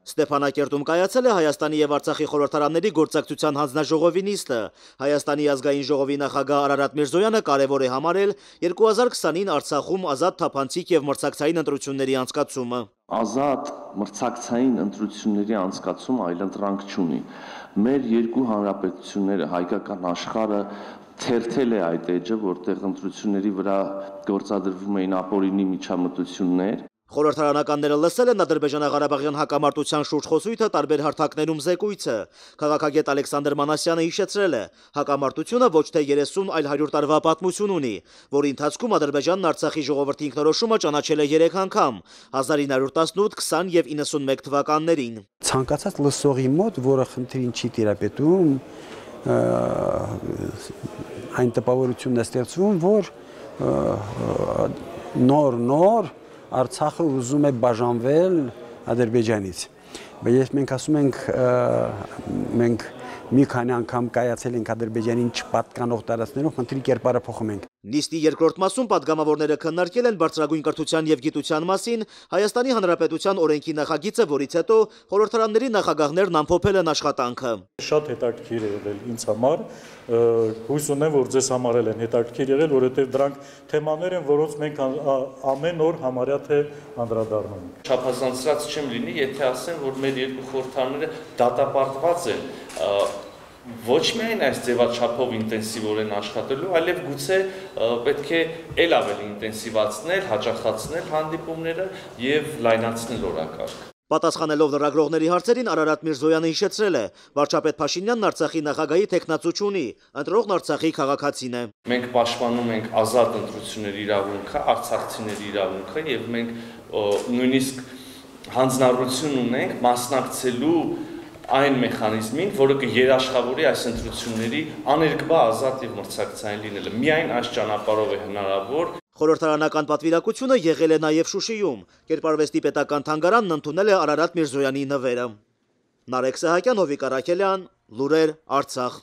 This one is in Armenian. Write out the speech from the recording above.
Ստեփանակերտում կայացել է Հայաստանի եւ Արցախի խորհրդարանների գործակցության հանձնաժողովի նիստը։ Հայաստանի ազգային ժողովի նախագահ Արարատ Միրզոյանը կարևոր է համարել 2020-ին Արցախում ազատ, թափանցիկ եւ մրցակցային ընտրությունների անցկացումը։ Ազատ մրցակցային ընտրությունների անցկացումը այլընտրանք չունի։ Մեր երկու հանրապետությունները, հայկական աշխարհը թերթել է այդ էջը, որտեղ ընտրությունների վրա գործադրվում էին ապօրինի միջամտություններ։ Խորհրդարանականները լսել են ադրբեջանա-ղարաբաղյան հակամարտության շուրջ խոսույթը տարբեր հարթակներում զեկույցը։ Քաղաքագետ Ալեքսանդր Մանասյանը հիշեցրել է, հակամարտությունը ոչ թե 30, այլ 100 տարվա պատմություն ունի, որի ընթացքում Ադրբեջանն Արցախի ժողովրդի ինքնորոշումը ճանաչել է 3 անգամ՝ 1918, 20 եւ 91 թվականներին։ Ցանկացած լսողի մոտ, որը խնդրին չի տիրապետում, այն տպավորությունն է ստեղծվում, որ նոր Արցախը ուզում է բաժանվել Ադրբեջանից։ Բայց մենք ասում ենք, մենք մի քանի անգամ կայացել ենք Ադրբեջանին չպատկանող տարածքներում, խնդրի կերպարը փոխում ենք։ Նիստի երկրորդ մասում պատգամավորները քննարկել են բարձրագույն կրթության եւ գիտության մասին Հայաստանի Հանրապետության օրենքի նախագիծը, որից հետո խորհրդարանների նախագահներն ամփոփել են աշխատանքը։ Շատ հետաքրքիր է եղել ինձ համար, հույս ունեմ, որ ձեզ համար էլ են հետաքրքիր եղել, որովհետեւ դրանք թեմաներ են, որոնց մենք ամեն օր համարյա թե անդրադառնում ենք։ Չափազանցած չեմ լինի, եթե ասեմ, որ մեր երկու խորհրդարանները դատապարտված են ոչ միայն այս ձևաչափով ինտենսիվորեն աշխատելու, այլև գուցե պետք է ել ավելի ինտենսիվացնել, հաճախացնել հանդիպումները եւ լայնացնել օրակարգը։ Պատասխանելով լրագրողների հարցերին Արարատ Միրզոյանը հիշեցրել է, վարչապետ Փաշինյանն Արցախի նախագահի թեկնածու չունի, ընտրողն Արցախի քաղաքացին է։ Մենք պաշտպանում ենք ազատ ընտրությունների իրավունքը, արցախցիների իրավունքը եւ մենք նույնիսկ հանձնառություն ունենք մասնակցելու այն մեխանիզմին, որը կերաշխավորի այս ընտրությունների աներկբա ազատ եւ մրցակցային լինելը։ Միայն այս ճանապարհով է հնարավոր։ Խորհրդարանական պատվիրակությունը եղել է նաև Շուշիում։ Կերպարվեստի պետական թանգարանն ընդունել է Արարատ Միրզոյանի նվերը։ Նարեկ Սահակյան, Հովիկ Արաքելյան, Լուրեր, Արցախ։